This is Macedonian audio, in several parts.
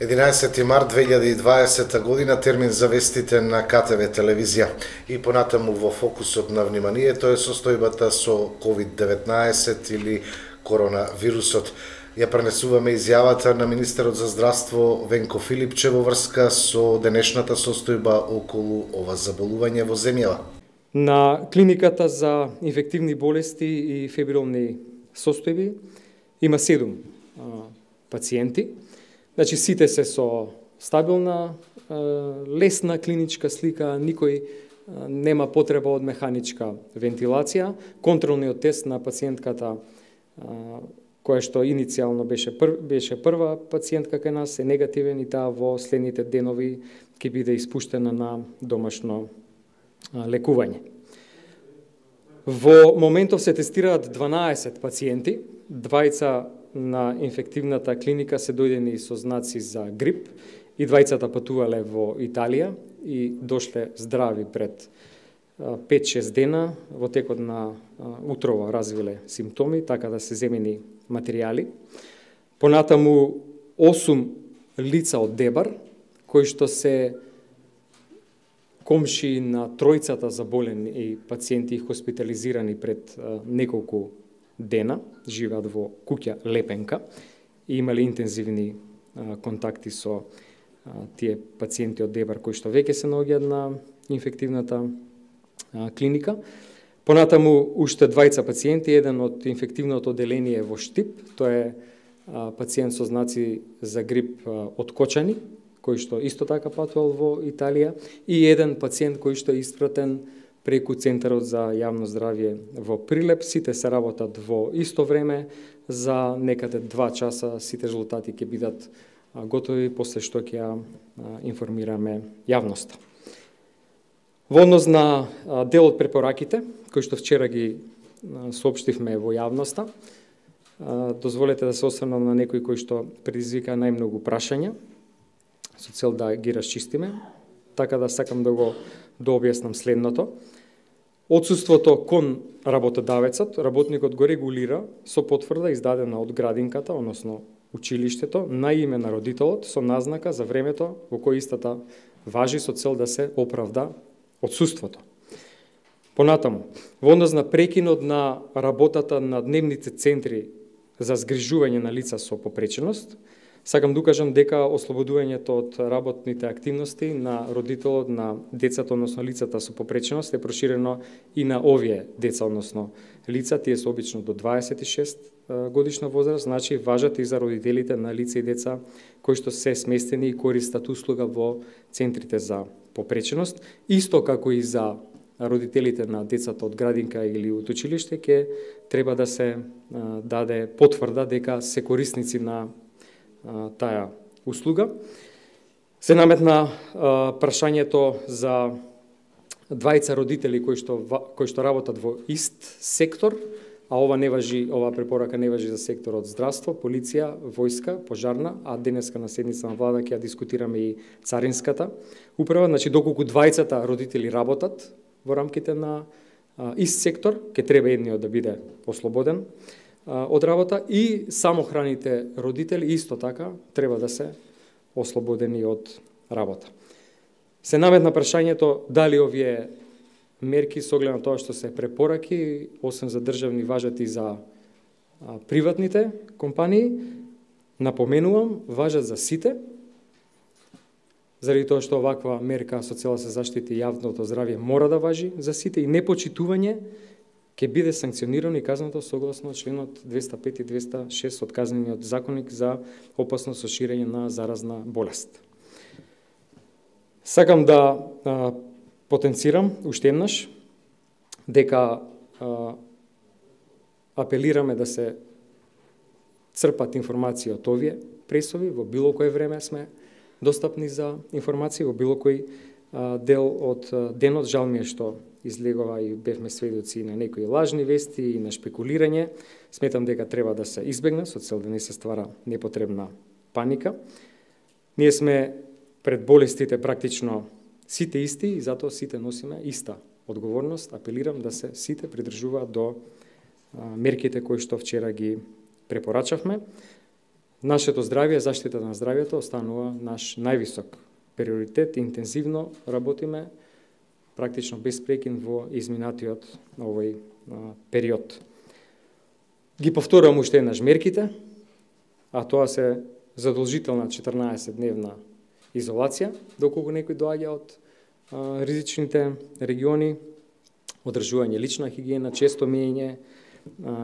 11 март 2020 година, термин за вестите на КТВ телевизија. И понатаму во фокусот на вниманието е состојбата со COVID-19 или коронавирусот. Ја пренесуваме изјавата на министерот за здравство Венко Филипче во врска со денешната состојба околу ова заболување во земјава. На клиниката за инфективни болести и фебрилни состојби има 7 пациенти. Значи, сите се со стабилна, лесна клиничка слика, никој нема потреба од механичка вентилација. Контролниот тест на пациентката, која што иницијално беше прва пациентка кај нас, е негативен и таа во следните денови ќе биде испуштена на домашно лекување. Во моментов се тестираат 12 пациенти, двајца на инфективната клиника се дојдени со знаци за грип и двајцата патувале во Италија и дошле здрави пред 5-6 дена, во текот на утрово развиле симптоми, така да се земени материјали. Понатаму 8 лица од Дебар, кои што се комши на тројцата заболени и пациенти хоспитализирани пред неколку дена, живеат во куќа Лепенка и имале интензивни контакти со тие пациенти од Дебар кои што веќе се наоѓаат на инфективната клиника. Понатаму уште двајца пациенти, еден од инфективното одделение во Штип, тоа е пациент со знаци за грип од Кочани, кој што исто така патувал во Италија, и еден пациент кој што е испратен преку Центарот за јавно здравје во Прилеп. Сите се работат во исто време, за некаде 2 часа сите резултати ќе бидат готови, после што ќе ја информираме јавноста. Во однос на дел од препораките, кои што вчера ги соопштивме во јавноста, дозволете да се осврнам на некои кои што предизвика најмногу прашања, со цел да ги расчистиме, така да сакам да го објаснам следното. Отсуството кон работодавецот, работникот го регулира со потврда издадена од градинката, односно училиштето, на име на родителот со назнака за времето во кој истата важи со цел да се оправда отсуството. Понатаму, во однос на прекинот на работата на дневните центри за згрижување на лица со попреченост, сакам да укажам дека ослободувањето од работните активности на родителот на децата, односно лицата со попреченост, е проширено и на овие деца, односно лица, тие се обично до 26 годишна возраст, значи важат и за родителите на лица и деца кои што се сместени и користат услуга во центрите за попреченост, исто како и за родителите на децата од градинка или од училиште, ќе треба да се даде потврда дека се корисници на таа услуга. Се наметна прашањето за двајца родители кои што работат во ист сектор, а ова препорака не важи за секторот здравство, полиција, војска, пожарна, а денеска на седница на влада ќе ја дискутираме и царинската управа. Значи, доколку двајцата родители работат во рамките на ист сектор, ќе треба едниот да биде ослободен од работа, и самохраните родители исто така треба да се ослободени од работа. Се наметна прашањето дали овие мерки со оглед на тоа што се препораки, освен за државни, важат и за приватните компании. Напоменувам, важат за сите, заради тоа што оваква мерка со цел да се заштити јавното здравје мора да важи за сите, и непочитување ќе биде санкционирано и казнато согласно членот 205 и 206 од Казнениот законник за опасност со ширење на заразна болест. Сакам да потенцирам уште еднаш дека апелираме да се црпат информации од овие пресови, во било кое време сме достапни за информации, во било кој дел од денот. Жал ми е што излегува и бевме сведоци на некои лажни вести и на шпекулирање. Сметам дека треба да се избегне со цел да не се ствара непотребна паника. Ние сме пред болестите практично сите исти и затоа сите носиме иста одговорност. Апелирам да се сите придржуваат до мерките кои што вчера ги препорачавме. Нашето здравје, заштита на здравјето останува наш највисок приоритет. Интензивно работиме, практично без прекин во изминатиот овој период. Ги повторувам уште еднаш мерките, а тоа се задолжителна 14-дневна изолација, доколку некој доаѓа од ризичните региони, одржување лична хигиена, често миење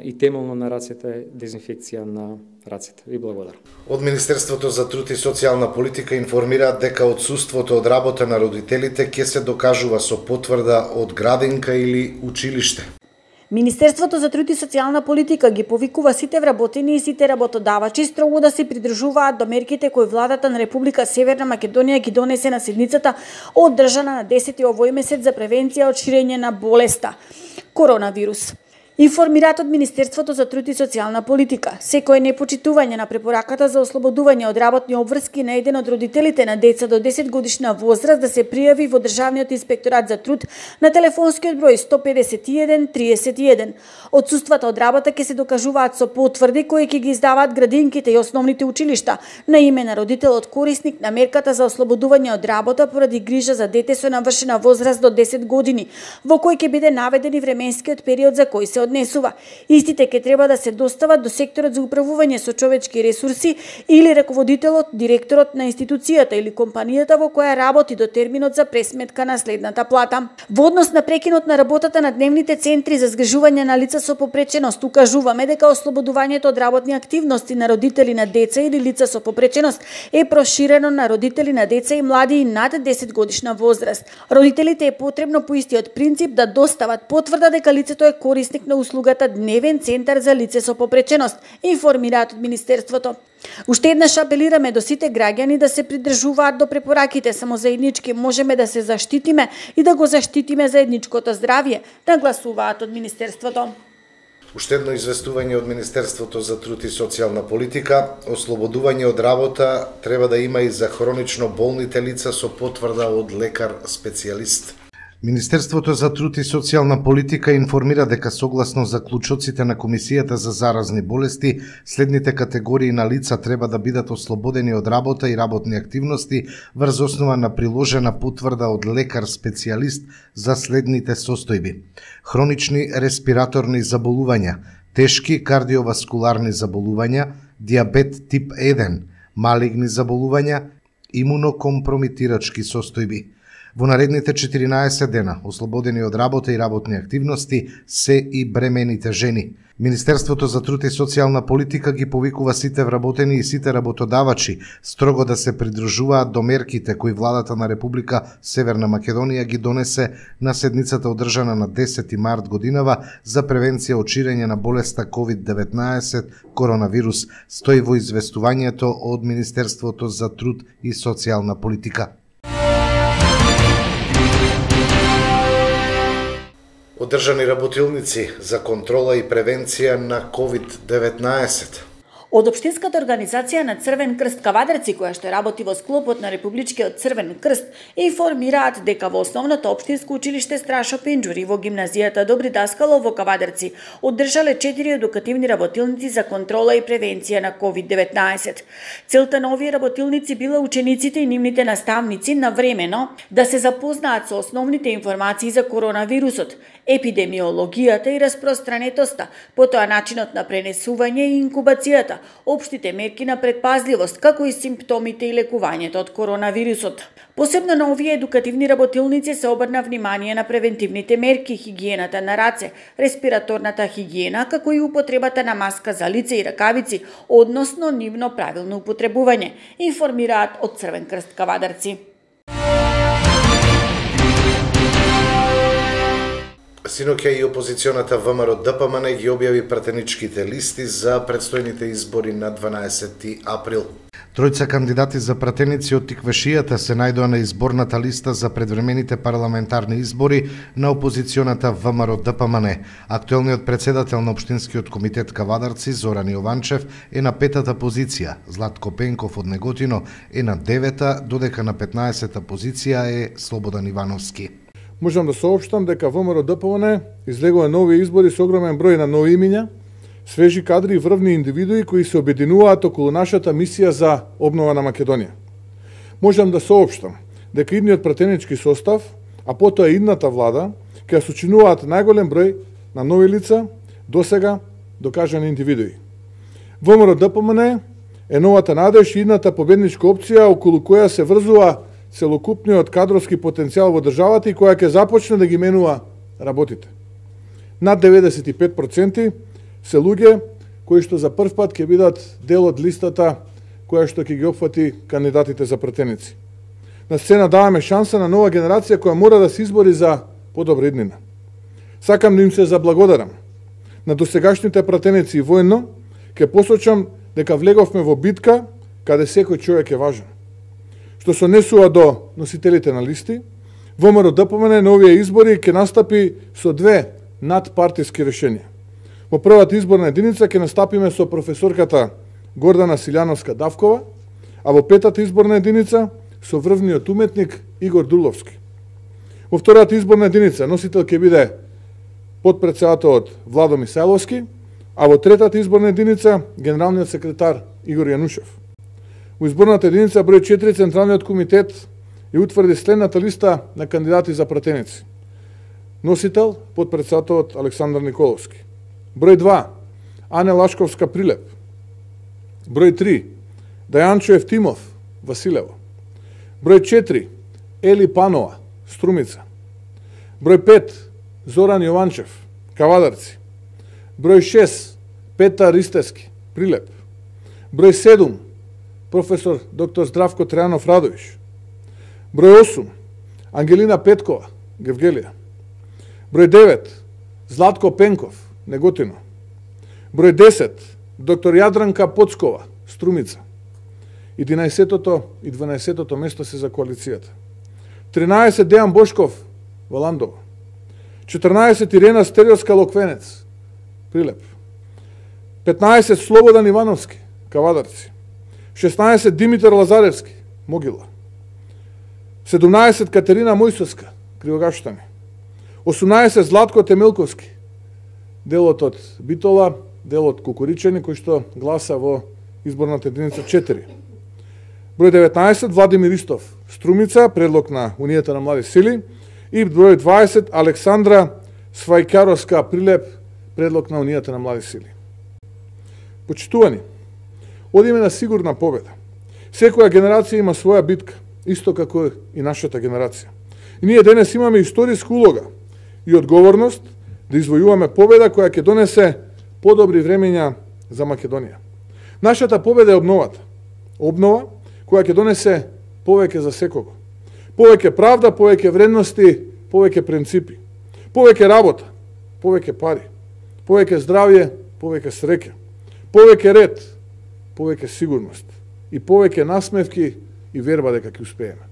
и темелно на рацете, дезинфекција на рацете. Ви благодарам. Од Министерството за труд и социјална политика информираат дека отсуството од работа на родителите ќе се докажува со потврда од градинка или училиште. Министерството за труд и социјална политика ги повикува сите вработени и сите работодавачи строго да се придржуваат до мерките кои владата на Република Северна Македонија ги донесе на седницата одржана на 10 овој месец за превенција од ширење на болеста коронавирус. Информираат од Министерството за труд и социјална политика, секое непочитување на препораката за ослободување од работни обврски на еден од родителите на деца до 10 годишна возраст да се пријави во Државниот инспекторат за труд на телефонскиот број 151 31. Отсуствата од работа ќе се докажуваат со потврди кои ќе ги издаваат градинките и основните училишта на име на родителот корисник на мерката за ослободување од работа поради грижа за дете со навршена возраст до 10 години, во кој ќе биде наведен и временскиот период за кој се однесува. Истите ќе треба да се достават до секторот за управување со човечки ресурси или раководителот, директорот на институцијата или компанијата во која работи до терминот за пресметка на следната плата. Во однос на прекинот на работата на дневните центри за згрижување на лица со попреченост, укажуваме дека ослободувањето од работни активности на родители на деца или лица со попреченост е проширено на родители на деца и млади и над 10 годишна возраст. Родителите е потребно по истиот принцип да достават потврда дека лицето е корисник на услугата Дневен центар за лице со попреченост, информираат од Министерството. Уште еднаш апелираме до сите граѓани да се придржуваат до препораките, само заеднички можеме да се заштитиме и да го заштитиме заедничкото здравје, нагласуваат од Министерството. Уште едно известување од Министерството за труд и социјална политика, ослободување од работа треба да има и за хронично болните лица со потврда од лекар специјалист. Министерството за труд и социјална политика информира дека согласно заклучоците на Комисијата за заразни болести, следните категории на лица треба да бидат ослободени од работа и работни активности врз основа на приложена потврда од лекар специјалист за следните состојби: хронични респираторни заболувања, тешки кардиоваскуларни заболувања, дијабет тип 1, малигни заболувања, имунокомпромитирачки состојби. Во наредните 14 дена, ослободени од работа и работни активности, се и бремените жени. Министерството за труд и социјална политика ги повикува сите вработени и сите работодавачи строго да се придржуваат до мерките кои владата на Република Северна Македонија ги донесе на седницата одржана на 10 март годинава за превенција од ширење на болеста COVID-19 коронавирус, стои во известувањето од Министерството за труд и социјална политика. Одржани работилници за контрола и превенција на COVID-19. Од Општинската организација на Црвен крст Кавадарци, која што работи во склопот на Републичкиот Црвен крст, информираат дека во основното општинско училиште Страшо Пинџур и во гимназијата Добри Даскало во Кавадарци одржале 4 едукативни работилници за контрола и превенција на COVID-19. Целта на овие работилници била учениците и нивните наставници навремено да се запознаат со основните информации за коронавирусот, епидемиологијата и распространетоста, потоа начинот на пренесување и инкубацијата, општите мерки на предпазливост, како и симптомите и лекувањето од коронавирусот. Посебно на овие едукативни работилници се обрна внимание на превентивните мерки, хигиената на раце, респираторната хигиена, како и употребата на маска за лице и ракавици, односно нивно правилно употребување, информираат од Црвен крст Кавадарци. Синоќа и опозиционата ВМРО ДПМН ги објави пратеничките листи за предстојните избори на 12 април. Тројца кандидати за пратеници од Тиквашијата се најдоа на изборната листа за предвремените парламентарни избори на опозиционата ВМРО ДПМН. Актуелниот председател на Општинскиот комитет Кавадарци Зоран Јованчев е на 5-та позиција, Златко Пенков од Неготино е на 9-та, додека на 15-та позиција е Слободан Ивановски. Можам да соопштам дека ВМРО ДПМН излегува нови избори со огромен број на нови имиња, свежи кадри и врвни индивидуи кои се обединуваат околу нашата мисија за обнова на Македонија. Можам да соопштам дека идниот пратенички состав, а потоа идната влада, ќе сочинуваат најголем број на нови лица, досега докажани индивидуи. ВМРО-ДПМН е новата надеж и идната победничка опција околу која се врзува целокупниот кадровски потенцијал во државата и која ќе започне да ги менува работите. Над 95% се луѓе кои што за прв пат ќе бидат дел од листата која што ќе ги опфати кандидатите за пратеници. На сцена даваме шанса на нова генерација која мора да се избори за подобра иднина. Сакам да им се заблагодарам. На досегашните пратеници и воено ќе посочам дека влеговме во битка каде секој човек е важен. Што се однесува до носителите на листи, ВМРО-ДПМН на овие избори ќе настапи со две надпартиски решенија. Во првата изборна единица ќе настапиме со професорката Гордана Силјановска-Давкова, а во петата изборна единица со врвниот уметник Игор Дуловски. Во втората изборна единица носител ќе биде потпредседателот Владо Мисајловски, а во третата изборна единица генералниот секретар Игор Јанушев. Во изборната единица број 4 Централниот комитет ја утврди следната листа на кандидати за пратеници. Носител потпредседателот Александар Николовски. Број 2 Ане Лашковска Прилеп. Број 3 Дајанчо Евтимов Василево. Број 4 Ели Панова Струмица. Број 5 Зоран Јованчев Кавадарци. Број 6 Петар Ристески Прилеп. Број 7 професор доктор Здравко Трајанов Радовиш. Број 8 Ангелина Петкова Гевгелија. Број 9 Златко Пенков Неготино. Број 10 доктор Јадранка Поцкова Струмица. 11-тото и 12-тото место се за коалицијата. 13 Дејан Бошков во Ландово. 14 Ирена Стериоска Локвенец Прилеп. 15 Слободан Ивановски Кавадарци. 16 Димитар Лазаревски Могила. 17 Катерина Мојсовска Кривогаштани. 18 Златко Темелковски делот од Битола, дел од Кукуричани кој што гласа во изборната единица 4. Број 19 Владимир Истов Струмица, предлог на Унијата на млади сили, и број 20 Александра Свајкаровска Прилеп, предлог на Унијата на млади сили. Почитувани, одиме на сигурна победа. Секоја генерација има своја битка, исто како и нашата генерација. И ние денес имаме историска улога и одговорност да извојуваме победа која ќе донесе подобри времења за Македонија. Нашата победа е обновата. Обнова која ќе донесе повеќе за секого. Повеќе правда, повеќе вредности, повеќе принципи. Повеќе работа, повеќе пари. Повеќе здравје, повеќе среќа. Повеќе ред, повеќе сигурност. И повеќе насмевки и верба дека ќе успееме.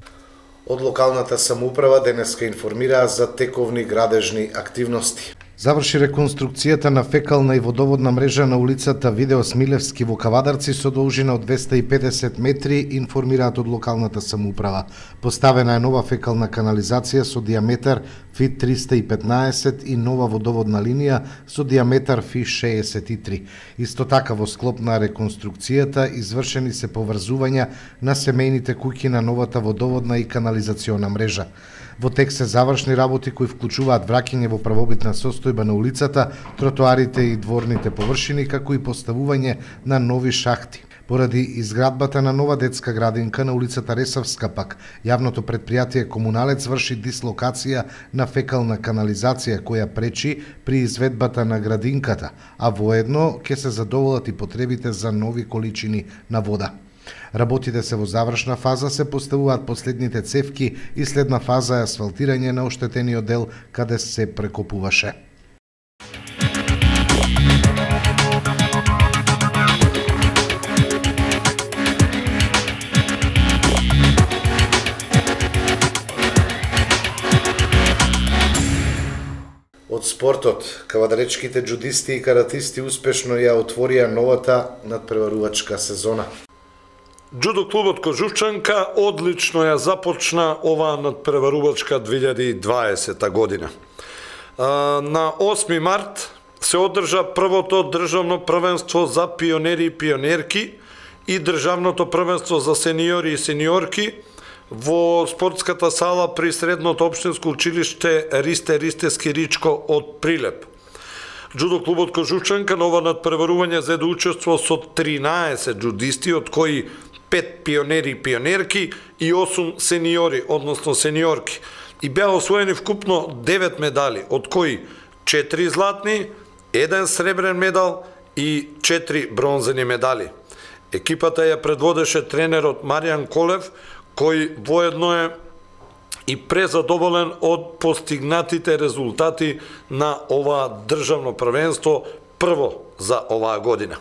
Од локалната самоуправа денеска информираа за тековни градежни активности. Заврши реконструкцијата на фекална и водоводна мрежа на улицата Видео Смилевски во Кавадарци со должина од 250 метри, информираат од локалната самоуправа. Поставена е нова фекална канализација со диаметар фит 315 и нова водоводна линија со диаметар фит 63. Исто така во склоп на реконструкцијата извршени се поврзувања на семејните куќи на новата водоводна и канализациона мрежа. Во тек се завршни работи кои вклучуваат враќање во правобитна состојба на улицата, тротоарите и дворните површини, како и поставување на нови шахти. Поради изградбата на нова детска градинка на улицата Ресавска пак, јавното претпријатие Комуналец врши дислокација на фекална канализација која пречи при изведбата на градинката, а воедно ќе се задоволат и потребите за нови количини на вода. Работите се во завршна фаза, се поставуваат последните цевки и следна фаза е асфалтирање на оштетениот дел каде се прекопуваше. Од спортот, кавадаречките джудисти и каратисти успешно ја отворија новата надпреварувачка сезона. Джудо клубот Кожувчанка одлично ја започна оваа надпреварувачка 2020 година. На 8 март се одржа првото државно првенство за пионери и пионерки и државното првенство за сениори и сениорки во спортската сала при средното општинско училиште Ристе Скиричко од Прилеп. Джудо клубот Кожушчанка на ова надпреварување зеде учество со 13 джудисти, од кои 5 пионери и пионерки и 8 сениори, односно сениорки. И беа освоени вкупно 9 медали, од кои 4 златни, 1 сребрен медал и 4 бронзени медали. Екипата ја предводеше тренерот Маријан Колев, кој воедно е и презадоволен од постигнатите резултати на ова државно првенство прво за оваа година.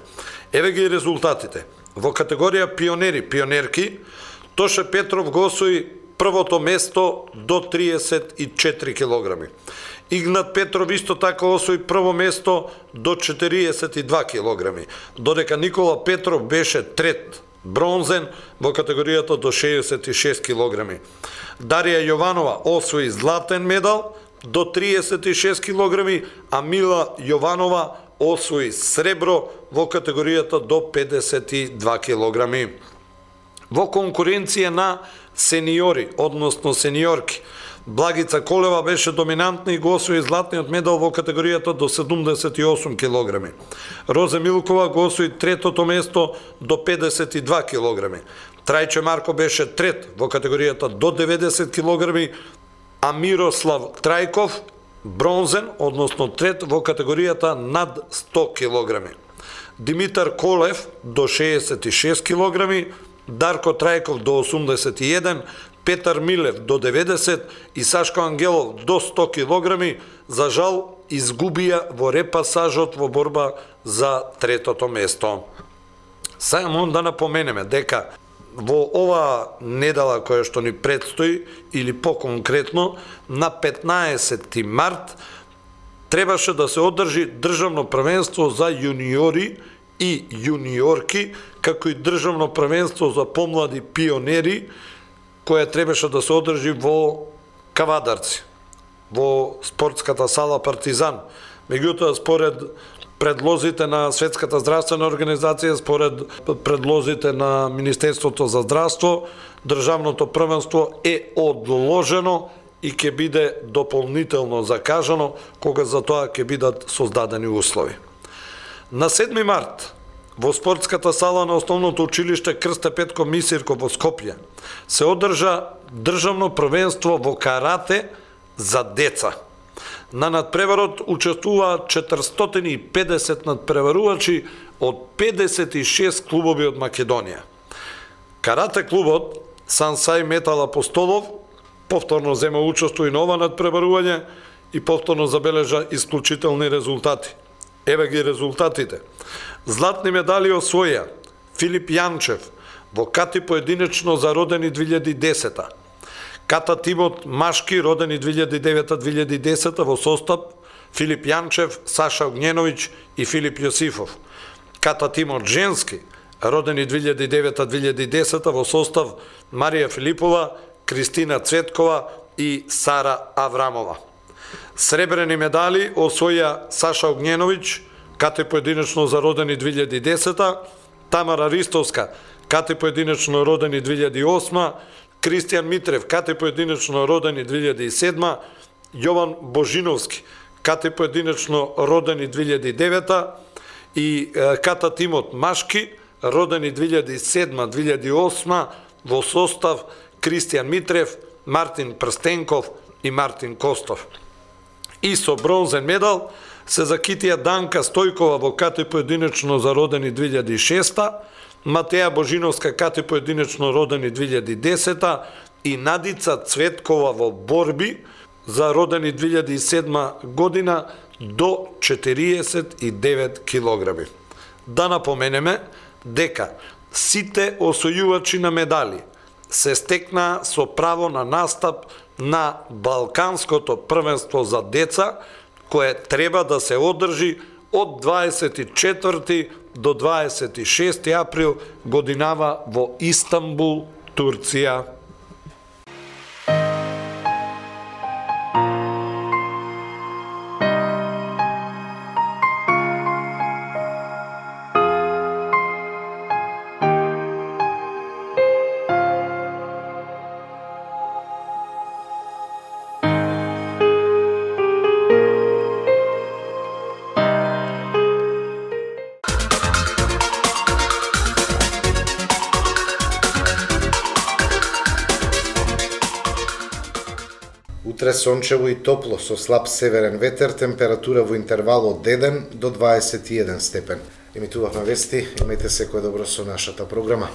Еве ги резултатите. Во категорија пионери, пионерки, Тоше Петров го освои првото место до 34 килограми. Игнат Петров исто така освои прво место до 42 килограми, додека Никола Петров беше трет, бронзен во категоријата до 66 килограми. Дарија Јованова освои златен медал до 36 килограми, а Мила Јованова освои сребро во категоријата до 52 килограми. Во конкуренција на сениори, односно сениорки, Благица Колева беше доминантна и го освои златниот медал во категоријата до 78 килограми. Розе Милкова го освои третото место до 52 килограми. Трајче Марко беше трет во категоријата до 90 килограми, а Мирослав Трајков бронзен, односно трет во категоријата над 100 килограми. Димитар Колев до 66 килограми, Дарко Трајков до 81, Петар Милев до 90 и Сашко Ангелов до 100 килограми, за жал изгубија во репасажот во борба за третото место. Само да напоменеме дека во ова недела која што ни предстои, или по-конкретно, на 15 март, требаше да се одржи државно првенство за јуниори и јуниорки, како и државно првенство за помлади пионери, која требаше да се одржи во Кавадарци, во спортската сала Партизан. Меѓутоа, според предлозите на Светската здравствена организација, според предлозите на Министерството за здравство, државното првенство е одложено и ќе биде дополнително закажано, кога за тоа ќе бидат создадени услови. На 7 март, во спортската сала на Основното училиште Крсте Петко Мисирко во Скопје се одржа државно првенство во карате за деца. На надпреварот учествуваат 450 надпреварувачи од 56 клубови од Македонија. Карате клубот Сансај Метал Апостолов повторно зема учество и на ова надпреварување и повторно забележа исклучителни резултати. Еве ги резултатите. Златни медали освоја Филип Јанчев во кати поединечно за родени 2010, ката тимот машки родени 2009-2010 во состав Филип Јанчев, Саша Огњеновиќ и Филип Јосифов, ката тимот женски родени 2009-2010 во состав Марија Филипова, Кристина Цветкова и Сара Аврамова. Сребрени медали освоја Саша Огњеновиќ, кате поединечно за родени 2010, Тамара Ристовска, кате поединечно родени 2008, Кристијан Митрев, кате поединечно родени 2007, Јован Божиновски, кате поединечно родени 2009 и ката тимот машки родени 2007-2008 во состав Кристијан Митрев, Мартин Прстенков и Мартин Костов. И со бронзен медал се закитија Данка Стојкова во кате поединечно за родени 2006, Матеја Божиновска кате поединечно родени 2010 и Надица Цветкова во борби за родени 2007 година до 49 килограми. Да напоменеме дека сите освојувачи на медали се стекнаа со право на настап на Балканското првенство за деца, кое треба да се одржи од 24 до 26 април годинава во Истанбул, Турција. Утре сончево и топло со слаб северен ветер, температура во интервал од 1 до 21 степен. Емитувавме вести, имајте секој добро со нашата програма.